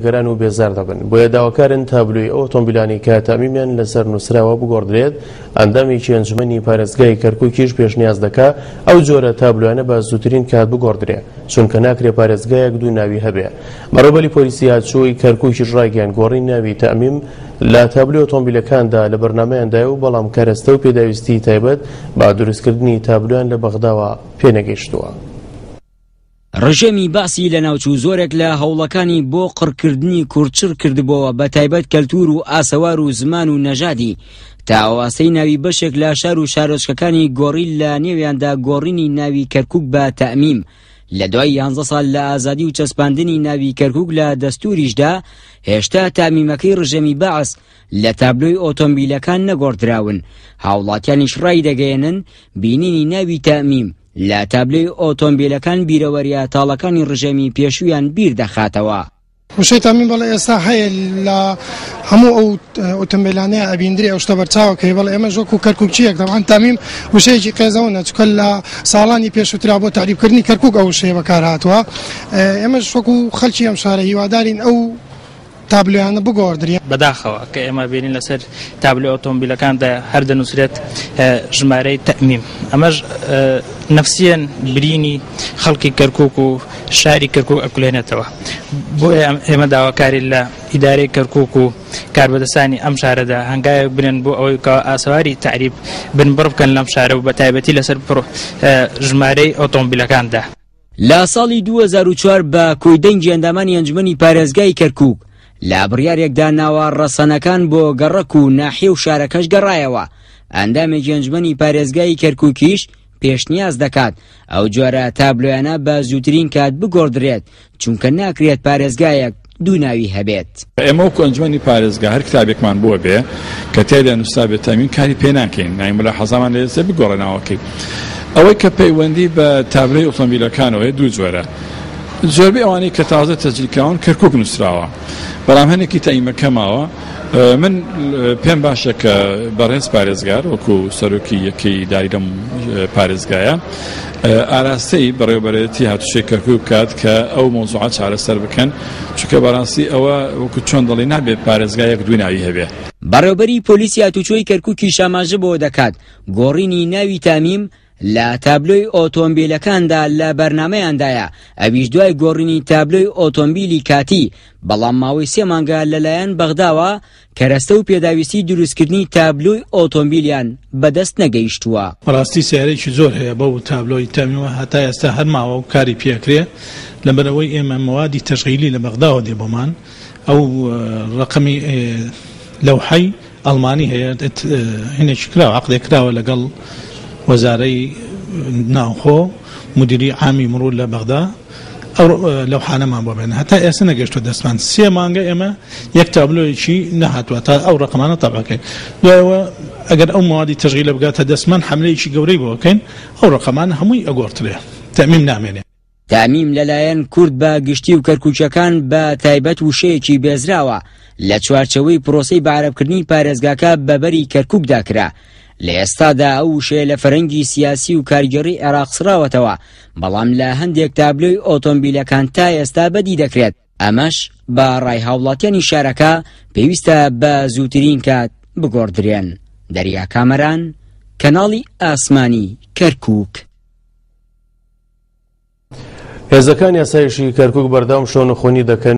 نیگەران و بێزار دەبن، بۆیە داواکارن تابلۆی ئەو ئۆتۆمبیلانەی کە تەئمیمیان لەسەر نووسراوە بگۆڕدرێت، ئەندامێکی ئەنجومەنی پارێزگای کەرکوکیش پێشنیاز دەکا ئەو جۆرە تابلۆیانە بە زووترین کات بگۆڕدرێ، چونکە ناکرێ پارێزگایەک دوو ناوی هەبێ. بەڕێوەبەری پۆلیسی هاتوچۆی کەرکوکیش ڕایگەیاند گۆڕینی ناوی تەئمیم لە تابلۆی ئۆتۆمبیلەکاندا لە بەرنامەیاندایە و بەڵام کەرەستە و پێداویستیی تایبەت بە دروستکردنی تابلۆیان لە بەغداوە پێنەگەیشتووە. ڕژێمی بەعسی لەناوچوو زۆرێک لە هەوڵەکانی بۆ قڕکردنی کورد چڕ کردبۆوە بە تایبەت کەلتور و ئاسەوار و زمان و نەژادی تا ئەو ئاستەی ناوی بەشێک لە شار و شارۆچکەکانی گۆڕی لە نێویاندا گۆڕینی ناوی کەرکوک بە تەئمیم لە دوای یانزە ساڵ لە ئازادی و چەسپاندنی ناوی کەرکوک لە دەستوریشدا هێشتا تەئمیمەکەی ڕژێمی بەعس لە تابلۆی ئۆتۆمبیلەکان نەگۆڕدراون هاوڵاتیانیش ڕایدەگەیەنن بینینی ناوی تەئمیم لە تابلۆی ئۆتۆمبیلەکان بیرەوەرییە تاڵەکانی ڕژێمی پێشوویان بیر دەخاتەوە. وشەی تامین بەڵێ ئێستا هەیە لە هەموو ئەو ئۆتۆمبیلانەیە ئەبیندرێ ئەو شتە بەرچاوە کەی بەڵێ ئێمەش وەکو کەرکوکچییەک تەبعەن تامیم وشەیەکی قێزەونە چونکە لە ساڵانی پێشووترا بۆ تەعریبکردنی کەرکوک ئەو وشەیە بەکار هاتووە ئێمەش وەکو خەلکی ئەم شارە هیوادارین ئەو تابلۆیانە بگۆڕدرێن. بەداخەوە کە ئێمە بینین لەسەر تابلۆی ئۆتۆمبیلەکاندا هەر دەنووسرێت ژمارەی تەئمیم ئەمەش نەفسیەن برینی خەڵکی کەرکوک و شاری کەرکوک ئەکولێنێتەوە بۆیە ئێمە داواکاری لە ئیدارەی کەرکوک و کاربەدەستانی ئەم شارەدا هەنگاوێک بنێن بۆ ئەوەی کە ئاسەواری تەعریب بنبڕ بکەن لەم شارە و بە تایبەتی لەسەر ژمارەی ئۆتۆمبیلەکاندا. لە ساڵی 2004 بە کۆی دەنگی ئەندامانی ئەنجومەنی پارێزگای کەرکوک لە بڕیارێکدا ناوە ڕەسەنەکان بۆ گەڕەک و ناحیە و شارەکەش گەڕایەوە، ئەندامێکی ئەنجومەنی پارێزگای کەرکوکیش پێشنیاز دەکات ئەو جۆرە تابلۆیانە بە زووترین کات بگۆڕدرێت، چونکە ناکرێت پارێزگایەک دوو ناوی هەبێت. ئێمە وەکو ئەنجومەنی پارێزگا هەر کتابێکمان بۆ بێ کە تیایدا نووسرابێت تەئمین کاری پێ ناکەین یانی مولاحەزامان لێ دەچێت بگۆڕێ ناوەکەی. ئەوەی کە پەیوەندی بە تابلۆی ئۆتۆمبیلەکانەوە هەیە دوو جۆرە زۆربەی ئەوانەی کە تازە تەسجیل کراون کەرکوک نووسراوە بەڵام هەنێکی تەئیمەکە ماوە من پێم باشە کە بەڕێز پارێزگار وەکو سەرۆکی یەکەی ئیداری لەم پارێزگایە ئاراستەی بەڕێوەبەرێتی هاتوچۆی کەرکوک بکات کە ئەو مەوزوعە چارەسەر بکەن چونکە بەڕاستی ئەوە وەکو چۆن دەڵێی نابێت پارێزگا یەک دوو ناوی هەبێ. بەڕێوبەری پۆلیسی هاتوچۆی کەرکوکیش ئاماژە بەوە دەکات، گۆڕینی ناوی تامیم لە تابلۆی ئۆتۆمبیلەکاندا لە بەرنامەیاندایە، ئەویش دوای گۆڕینی تابلۆی ئۆتۆمبیلی کاتی، بەڵام ماوەی سێ مانگە لەلایەن بەغداوە کەرەستە و پێداویستی دروستکردنی تابلۆی ئۆتۆمبیلیان بەدەست نەگەیشتووە. بەڕاستی سەیارەیەکی زۆر هەیە بەو تابلۆی تەمیوە هەتا ئێستا هەر ماوە و کاری پێ ئەکرێ لەبەرئەوەی ئێمە مەوادی تەشغیلی لە بەغداوە دێ بۆمان ئەو ڕەقەمی لەوحەی ئەڵمانی هەیە هینێکی کراوە عەقدێک کراوە لەگەڵ وەزارەی ناوخۆ مدیری عامی مڕور لە بەغدا ئەو لەوحانەمان بۆ بێنن هەتا ئێستا نەگەشتوە دەستمان سێ مانگە ئێمە یەک تابلۆیەکی نەهاتوە تا ئەو ڕەقەمانە تەبعەکەین دوایەوە ئەگەر ئەو مەوادی تەشغیلە بگاتە دەستمان حەملەیەکی گەورەی بۆ ئەکەین ئەو ڕەقەمانە هەمووی ئەگۆڕترێ تەئمیم نامێنێ. تەئمیم لەلایەن کورد بە گشتی و کەرکوکیەکان بە تایبەت وشەیەکی بێزراوە لە چوارچێوەی پرۆسەی بەعەرەبکردنی پارێزگاکە بە بەری کەرکوکدا کرا. لە ئێستادا ئەو وشەیە لە فەرەنگی سیاسی و کارگێڕی عێراق سڕاوەتەوە، بەڵام لە هەندێک تابلۆی ئۆتۆمبیلەکان تا ئێستا بەدی دەکرێت، ئەمەش بە ڕای هاوڵاتیانی شارەکە پێویستە بە زووترین کات بگۆڕدرێن. دەریا کامەران، کەناڵی ئاسمانی کەرکوک. هێزەکانی ئاسایشی کەرکوک بەردەوام شەونخونی دەکەن.